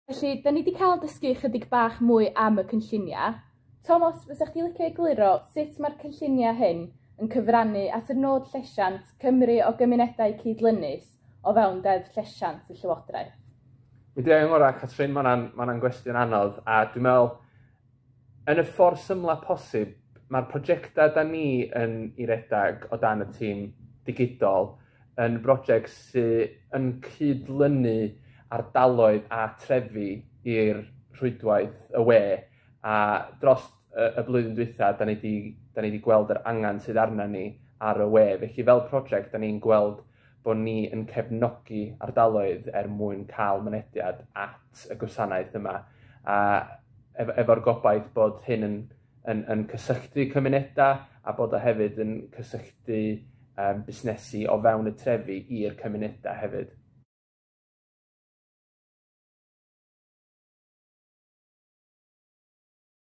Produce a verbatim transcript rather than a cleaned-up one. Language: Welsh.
Felly, da ni wedi cael dysgu chydig bach mwy am y cynlluniau. Tomos, fysa chdi licio egluro sut mae'r cynlluniau hyn yn cyfrannu at y nod llesiant Cymru o gymunedau cydlynus o fewn Deddf Llesiant y Llywodraeth? Mi dwi angen ngorau, Catrin, mae hwnna'n ma gwestiwn anodd, a dwi'n meddwl, yn y ffordd symla posib, mae'r prosiectau da ni yn ei redag o dan y tîm digidol yn brosiect sydd yn cydlynu ardaloedd a trefi i'r rhwydwaith y we, a dros y, y blwyddyn dwytha, da ni di, da ni di gweld yr angen sydd arna ni ar y we. Felly fel prosiect, da ni'n gweld bod ni yn cefnogi ardaloedd er mwyn cael mynediad at y gwasanaeth yma. A ef efo'r gobaith bod hyn yn, yn, yn cysylltu cymunedau a bod o hefyd yn cysylltu um, busnesu o fewn y trefi i'r cymunedau hefyd.